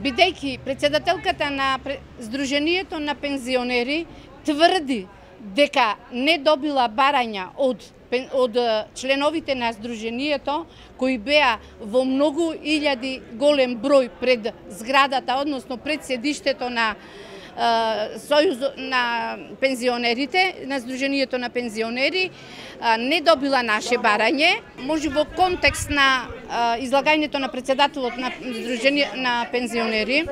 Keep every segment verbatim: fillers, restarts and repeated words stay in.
бидејќи председателката на Сдруженијето на пензионери тврди дека не добила барања од од членовите на Сдруженијето, кои беа во многу илјади голем број пред зградата, односно пред седиштето на Сојуз на пензионерите, на Сдруженијето на пензионери, не добила наше барање. Може во контекст на излагањето на председателот на Сдруженијето на пензионери,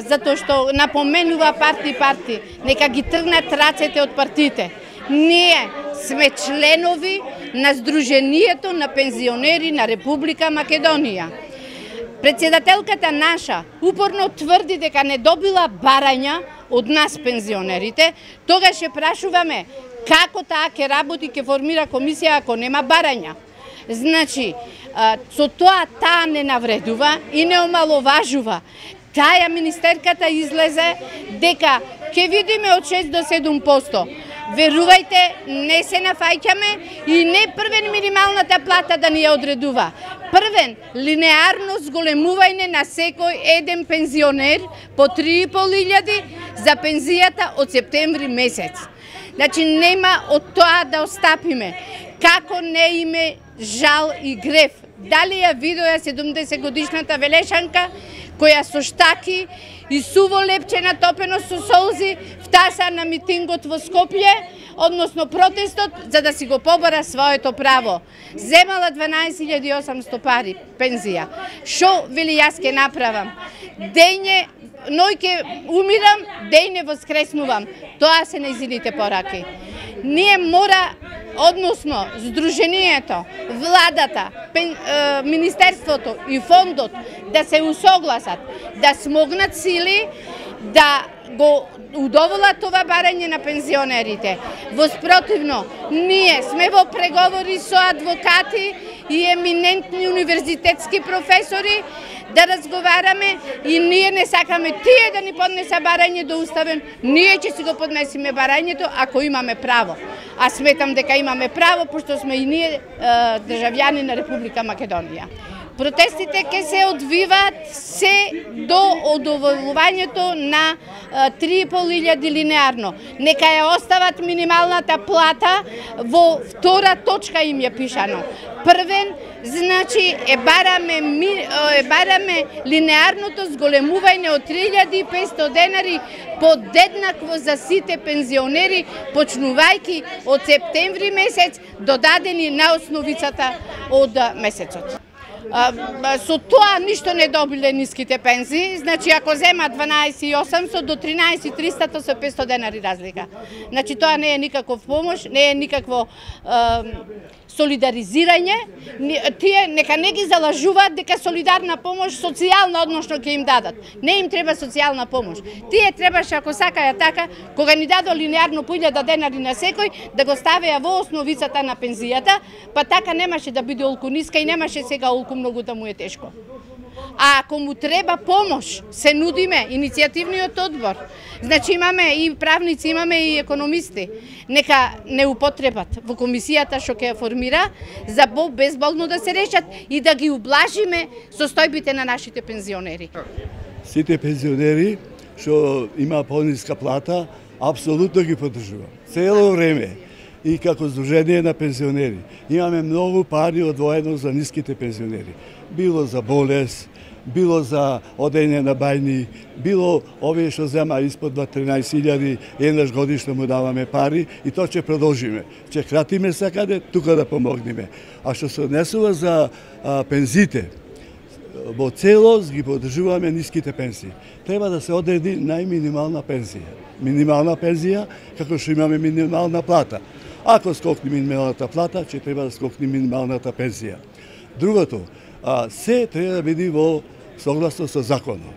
затоа што напоменува парти парти, нека ги тргнат рацете од партиите. Ние сме членови на Сдруженијето на пензионери на Република Македонија. Председателката наша упорно тврди дека не добила барања од нас пензионерите, тогаш ќе прашуваме како таа ќе работи, ќе формира комисија ако нема барања. Значи, со тоа таа не навредува и не омаловажува. Таја министерката излезе дека ќе видиме од шест до седум проценти. Верувајте, не се нафаќаме и не првен минималната плата да ни ја одредува. Првен, линеарно зголемување на секој еден пензионер по три и пол илјади за пензијата од септември месец. Значи, нема од тоа да остапиме. Како не име жал и грев. Дали ја видоја седумдесет годишната Велешанка, која со штаки и суво лепче натопено со солзи втаса на митингот во Скопје, односно протестот, за да си го побора своето право. Земала дванаесет илјади и осамсто пари пензија. Шо вели јас ке направам? Дејне, ној ке умирам, дејне воскреснувам. Тоа се нејзините пораки. Ние мора, односно Сдруженијето, владата, пен, е, Министерството и фондот да се усогласат, да смогнат сили, да го удоволат ова барање на пензионерите. Воспротивно, ние сме во преговори со адвокати и еминентни универзитетски професори да разговараме и ние не сакаме тие да ни поднеса барање до уставен, ние ќе си го поднесиме барањето ако имаме право. А сметам дека имаме право, пошто сме и ние е, државјани на Република Македонија. Протестите ќе се одвиваат се до одоволувањето на три и пол илјади линеарно. Нека ја остават минималната плата, во втора точка им ја пишано. Првен, значи, е бараме, е бараме линеарното зголемување од три илјади и петстотини денари подеднакво за сите пензионери, почнувајќи од септември месец, додадени на основицата од месецот. Со тоа ништо не добиле ниските пензии, значи ако зема дванаесет и осамсто до тринаесет и триста со петсто денари разлика. Значи тоа не е никаков помош, не е никакво е, солидаризирање. Тие нека не ги залажуваат дека солидарна помош социјална односно ќе им дадат. Не им треба социјална помош. Тие требаше, ако сакаја така, кога ни дадо линеарно по илјада денари на секој, да го ставеа во основицата на пензијата, па така немаше да биде олку ниска и немаше сега олку многу да му е тешко. А ако му треба помош, се нудиме иницијативниот одбор. Значи имаме и правници, имаме и економисти. Нека не употребат во комисијата што ќе формира за безболно да се решат и да ги ублажиме состојбите на нашите пензионери. Сите пензионери што има пониска плата, апсолутно ги поддржувам. Цело време. И како Сдружение на пензионери имаме многу пари одвоено за ниските пензионери. Било за болест, било за одење на бајни, било овие што зема испод тринаесет илјади, еднаш годишно му даваме пари и тоа ќе продолжиме. Ќе кратиме сакаде, тука да помогнеме. А што се однесува за а, пензите, во целост ги поддржуваме ниските пенсии. Треба да се одреди најминимална пензија. Минимална пензија, како што имаме минимална плата. Ако скокне минималната плата, ќе треба да скокне минималната пензија. Другото, а, се треба да биде во согласно со законот.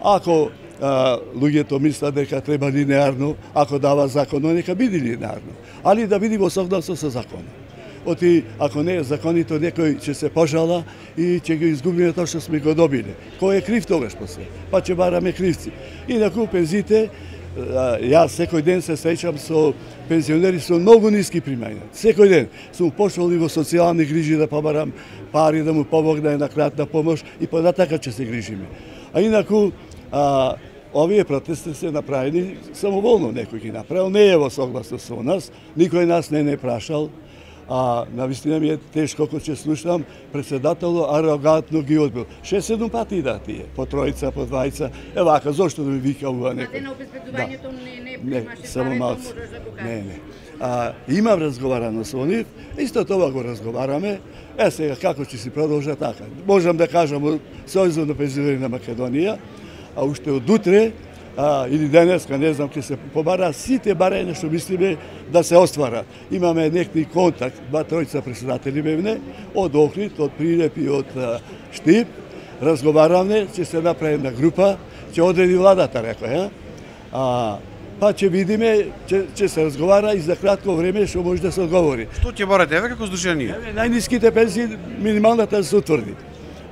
Ако а, луѓето мислат дека треба линеарно, ако дава законот, нека биде линеарно, али да биде во согласно со законот. Оти, ако не е законито, некој ќе се пожала и ќе го изгубиме тоа што сме го добиле. Кој е крив тогаш после? Па ќе бараме кривци. Инаку пензите, јас секој ден се среќам со пензионери со многу ниски примања. Секој ден сум пошол и во социјални грижи да побарам пари, да му помогне на кратна помош и понатака ќе се грижиме. А инаку, а, овие протести се направени самоволно, некој ги направил, не е во согласност со нас, никој нас не не прашал. А навистина ми е тешко кога ќе слушам председателот арогантно ги одбил. шест-седум пати да тие, по тројца, по двајца. Е вака, зошто да ми вика ова некој? А на обезбедувањето не не Не, примаше само пари, малку. можеш да го кажеш. Не, не. А, имам разговарано со нив, исто тоа го разговараме. Е сега како ќе си продолжа така? Можам да кажам од Сојузот на пензионери на Македонија, а уште од утре а, или денеска, не знам, ќе се побара сите барања што мислиме да се оствара. Имаме некој контакт, два тројца председатели бевне, од Охрид, од Прилеп и од а, Штип, разговаравме, ќе се направи една група, ќе одреди владата, рекој, а? а па ќе видиме, ќе, ќе се разговара и за кратко време што може да се одговори. Што ќе барате еве како здружение? Еве, најниските пензии, минималната да се утврди.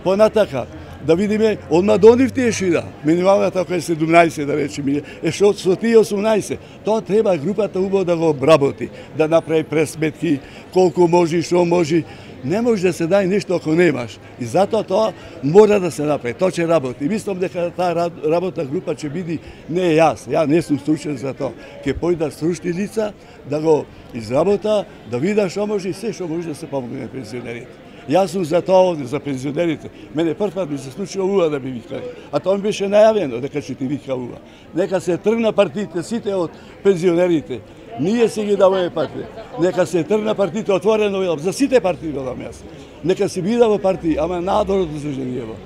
Понатака, да видиме, одма до нив тие шида. Минималната која е седумнаесет, да речеме, е што со тие осумнаесет. Тоа треба групата убаво да го обработи, да направи пресметки, колку може, што може. Не може да се дај нешто ако немаш. И затоа тоа мора да се направи. Тоа ќе работи. Мислам дека таа работна група ќе биде не јас. Ја не сум стручен за тоа. Ќе појдат стручни лица да го изработа, да видат што може и се што може да се помогне на пензионерите. Јас сум за тоа овде, за пензионерите. Мене прв пат ми се случило ува да ми викали. А тоа ми беше најавено дека ќе ти вика ува. Нека се тргна партиите сите од пензионерите. Ние си ги даваме партии. Нека се тргна партиите отворено, велам, за сите партии велам јас. Нека се бида во партии, ама надор од здруженијево.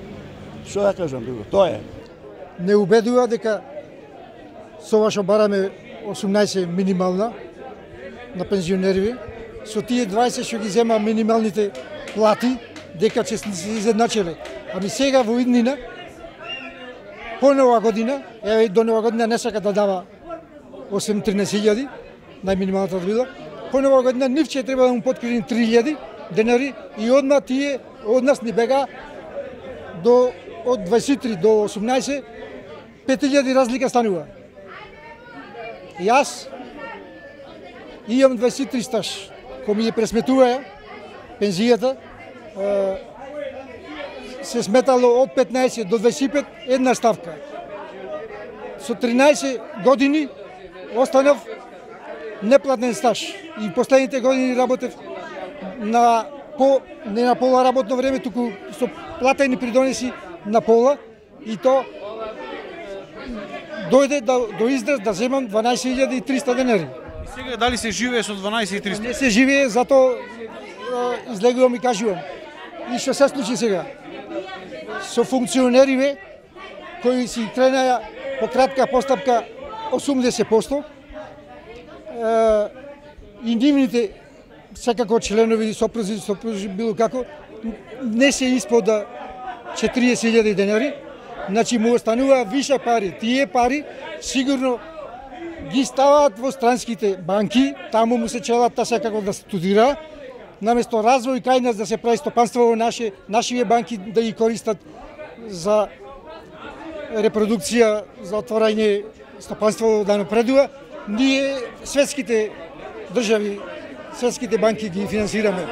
Што да кажам друго? Тоа е. Не убедува дека со ова што бараме осумнаесет минимална на пензионери, со тие дваесет што ги зема минималните плати, дека ќе се изедначиле. Ами сега во иднина, по нова година, еве до нова година не сака да дава осем-тринаесет илјади, најминималната да биде. По нова година нив ќе треба да му подкрени три илјади денари и одма тие од нас ни бега до од дваесет и три до осумнаесет пет илјади разлика станува. Јас имам дваесет и три стаж. Кој ми ја пресметува пензијата, се сметало од петнаесет до дваесет и пет една ставка. Со тринаесет години останав неплатен стаж и последните години работев на по не на пола работно време, туку со платени придонеси на пола и то дојде до, до израз да земам дванаесет илјади и триста денари. Сега дали се живее со дванаесет и триста? Не се живее, затоа излегувам и кажувам. И што се случи сега? Со функционериве кои си кренаја по кратка постапка осумдесет проценти, и нивните секако членови, сопрузи, сопрузи, било како, не се испод четириесет илјади денари, значи му останува више пари. Тие пари сигурно ги ставаат во странските банки, таму му се челат та секако да студира, наместо развој кај нас да се прави стопанство во наше, нашиве банки да ги користат за репродукција, за отворање стопанство да напредува, ние светските држави, светските банки ги финансираме.